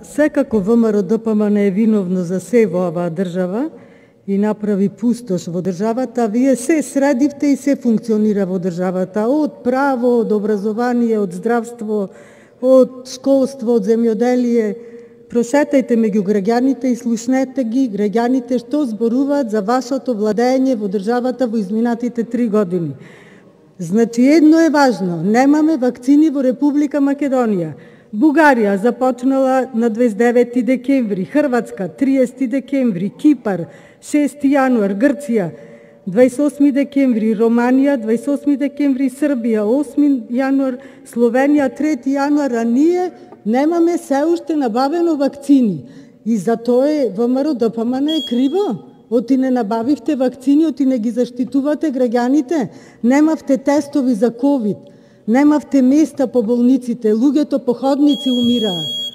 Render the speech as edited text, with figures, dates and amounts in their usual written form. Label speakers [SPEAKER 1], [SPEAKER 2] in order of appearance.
[SPEAKER 1] Секако ВМРО-ДПМН е виновно за се во оваа држава и направи пустош во државата. Вие се средивте и се функционира во државата, од право, од образование, од здравство, од школство, од земјоделие. Прошетајте меѓу граѓаните и слушнете ги граѓаните што зборуваат за вашето владење во државата во изминатите 3 години. Значи, едно е важно, немаме вакцини во Република Македонија. Бугарија започнала на 29 декември, Хрватска 30 декември, Кипар 6 јануар, Грција 28 декември, Романија 28 декември, Србија 8 јануар, Словенија 3 јануар, а ние немаме се уште набавено вакцини. И затоа ВМРО-ДПМН е криво. Оти не набавивте вакцини, оти не ги заштитувате граѓаните, немавте тестови за ковид, немавте места по болниците, луѓето по ходници умираат.